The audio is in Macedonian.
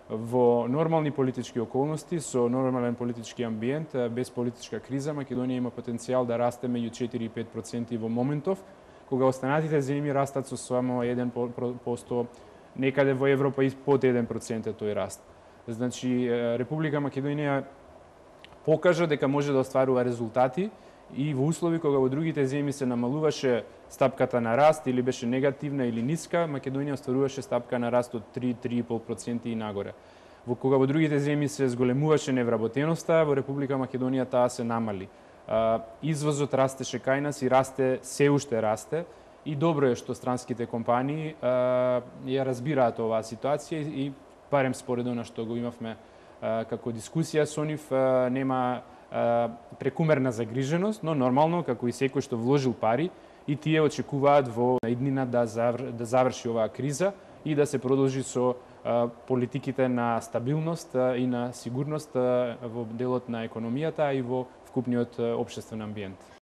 Во нормални политички околности, со нормален политички амбиент, без политичка криза, Македонија има потенцијал да расте меѓу 4 и 5% во моментов, кога останатите земји растат со само 1%, некаде во Европа и под 1% тој раст. Значи, Република Македонија покажа дека може да остварува резултати и во услови кога во другите земји се намалуваше стапката на раст или беше негативна или ниска, Македонија остваруваше стапка на раст од 3-3,5% и нагоре. Кога во другите земји се зголемуваше невработеноста, во Република Македонија таа се намали. Извозот растеше кај нас и се уште расте, и добро е што странските компании ја разбираат оваа ситуација и барем според она што го имавме како дискусија со нив, нема прекумерна загриженост, но нормално, како и секој што вложил пари, и тие очекуваат во иднина да заврши оваа криза и да се продолжи со политиките на стабилност и на сигурност во делот на економијата и во вкупниот општествен амбиент.